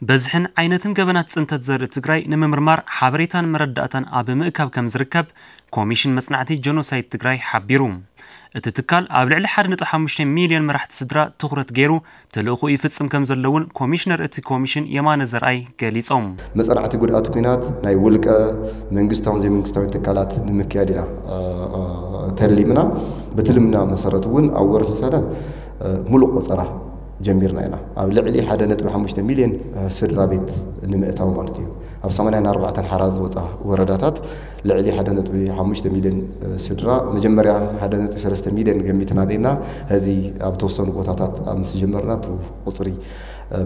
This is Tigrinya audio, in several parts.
በዝሕን ዓይነትን ገበናት ጽንተት ዘርኢ ትግራይ ንምምርማር ሓበሬታን መረዳእታን ኣብ ምእካብ ከም ዝርከብ ኮሚሽን መጽናዕቲ ጀኖሳይድ ትግራይ ሓቢሩ። እቲ ትካል ኣብ ልዕሊ ሓደ ነጥቢ ሓሙሽተ ሚልዮን መራሕቲ ስድራ ትኹረት ገይሩ ተልእኾ ይፍጽም ከም ዘለውን ኮሚሽነር እቲ ኮሚሽን የማነ ዘርኣይ ገሊጾም። መጸናዕቲ ጉድኣት ኲናት ናይ ውልቀ መንግስታውን ዘይመንግስታዊ ትካላት ንምክያድ ኢና ተሊምና። ብትልምና መሰረት እውን ኣብ ወርሒ ሰነ ሙሉእ ቆጸራ ጀሚርና ኢና። ኣብ ልዕሊ ሓደ ነጥቢ ሓሙሽተ ሚልዮን ስድራ ቤት ንምእታው ማለት እዩ። ኣብ ሰማንያን ኣርባዕተን ሓራ ዝወፃ ወረዳታት ልዕሊ ሓደ ነጥቢ ሓሙሽተ ሚልዮን ስድራ፣ መጀመርያ ሓደ ነጥቢ ሰለስተ ሚልዮን ገሚትና ኔና፣ ሕዚ ኣብ ተወሰኑ ቦታታት ኣብ ምስ ጀመርና እቲ ቁፅሪ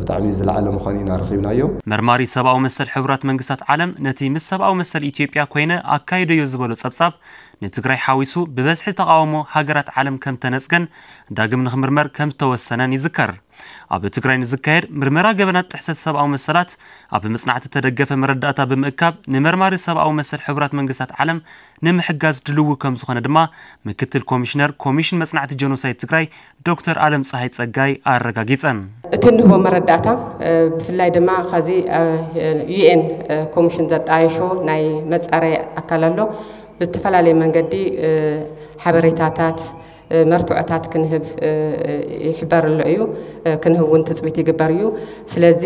ብጣዕሚ ዝለዓለ ምዃኑ ኢና ረኺብናዮ። መርማሪ ሰብኣዊ መሰል ሕቡራት መንግስታት ዓለም ነቲ ምስ ሰብኣዊ መሰል ኢትዮጵያ ኮይነ ኣካይደዮ ዝበሎ ጸብጻብ ንትግራይ ሓዊሱ ብበዝሒ ተቓውሞ ሃገራት ዓለም ከም ተነጽገን ዳግም ንኽምርመር ከም ዝተወሰነን ይዝከር። ኣብ ትግራይ ንዝካየድ ምርመራ ገበናት ጥሕሰት ሰብኣዊ መሰላት ኣብ መጽናዕቲ ተደገፈ መረዳእታ ብምእካብ ንመርማሪ ሰብኣዊ መሰል ሕቡራት መንግስታት ዓለም ንምሕጋዝ ድልዊ ከም ዝኾነ ድማ ምክትል ኮሚሽነር ኮሚሽን መጽናዕቲ ጀኖሳይድ ትግራይ ዶክተር ኣለም ፀሃይ ፀጋይ ኣረጋጊፀን። እቲ እንህቦ መረዳእታ ብፍላይ ድማ ከዚ ዩኤን ኮሚሽን ዘጣየሾ ናይ መፃረይ ኣካል ኣሎ። ብዝተፈላለየ መንገዲ ሓበሬታታት መርትዖታት ክንህብ ይሕበር ኣሎ እዩ። ክንህብ እውን ትፅቢት ይግበር እዩ። ስለዚ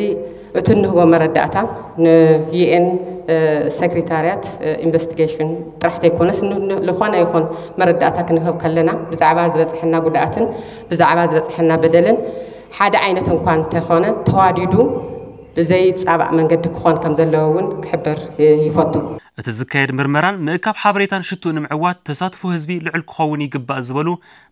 እቲ እንህቦ መረዳእታ ንዩኤን ሴክሬታርያት ኢንቨስቲጌሽን ጥራሕ ዘይኮነስ ዝኾነ ይኹን መረዳእታ ክንህብ ከለና ብዛዕባ ዝበፅሐና ጉድኣትን ብዛዕባ ዝበፅሐና በደልን ሓደ ዓይነት እንኳ እንተኾነ ተዋዲዱ ብዘይፃባእ መንገዲ ክኾን ከም ዘለዎ እውን ክሕብር ይፈቱ። እቲ ዝካየድ ምርመራን ምእካብ ሓበሬታን ሽትኡ ንምዕዋት ተሳትፎ ህዝቢ ልዑል ክኸውን ይግባእ ዝበሉ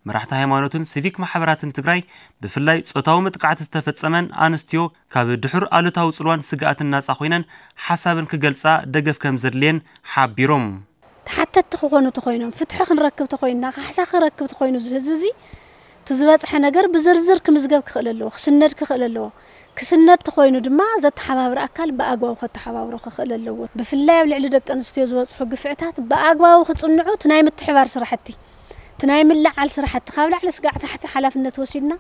መራሕቲ ሃይማኖትን ሲቪክ ማሕበራትን ትግራይ ብፍላይ ጾታዊ መጥቃዕቲ ዝተፈጸመን ኣንስትዮ ካብ ድሑር ኣሉታዊ ጽልዋን ስግኣትን ናጻ ኮይነን ሓሳብን ክገልጻ ደገፍ ከም ዘድልየን ሓቢሮም። ተሓተትቲ ክኾኑ ተኾይኖም ፍትሒ ክንረክብ ተኾይንና ካሕሳ ክንረክብ ተኾይኑ እዚ ህዝቢ እዚ እቲ ዝበፅሐ ነገር ብዝርዝር ክምዝገብ ክኽእል ኣለዎ፣ ክስነድ ክኽእል ኣለዎ። ክስነድ ተኾይኑ ድማ ዘተሓባብር ኣካል ብኣግባቡ ከተሓባብሮ ክኽእል ኣለዎ። ብፍላይ ኣብ ልዕሊ ደቂ ኣንስትዮ ዝበፅሑ ግፍዕታት ብኣግባቡ ክፅንዑ እቲ ናይ ምትሕባር ስራሕቲ እቲ ናይ ምልዓል ስራሕቲ ካብ ላዕሊ ስጋዕ ታሕቲ ሓላፍነት ወሲድና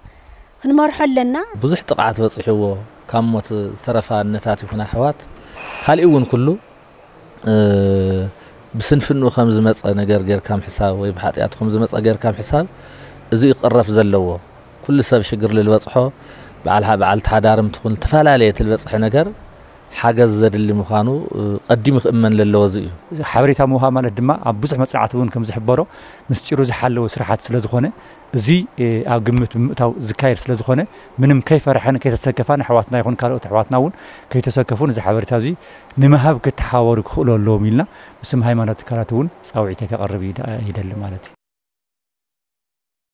ክንመርሖ ኣለና። ብዙሕ ጥቕዓት በፂሕዎ ካብ ሞት ዝተረፋ ኣነታት ይኹን ኣሕዋት ካሊእ እውን ኩሉ ብስንፍንኡ ከም ዝመፀ ነገር ጌርካ ምሕሳብ ወይ ብሓጢኣቱ ከም ዝመፀ ጌርካ ምሕሳብ እዚኡ ክቕረፍ ዘለዎ። ኩሉ ሰብ ሽግር ልልበፅሖ በዓል በዓልቲ ሓዳርም ትኹን ዝተፈላለየ ትልበፅሐ ነገር ሓገዝ ዘድሊ ምዃኑ ቀዲሙ ክእመን ለለዎ እዚ እዩ። ሓበሬታ ምውሃብ ማለት ድማ ኣብ ብዙሕ መፅናዕቲ እውን ከም ዝሕበሮ ምስጢሩ ዝሓለወ ስራሓት ስለ ዝኾነ እዚ ኣብ ግምት ብምእታው ዝካየድ ስለ ዝኾነ ምንም ከይፈርሐን ከይተሰከፋን ኣሕዋትና ይኹን ካልኦት ኣሕዋትና እውን ከይተሰከፉ ነዚ ሓበሬታ እዚ ንምሃብ ክተሓባበሩ ክኽእሉ ኣለዎም ኢልና ብስም ሃይማኖት ትካላት እውን ፃውዒተይ ከቕርብ ይደሊ ማለት እዩ።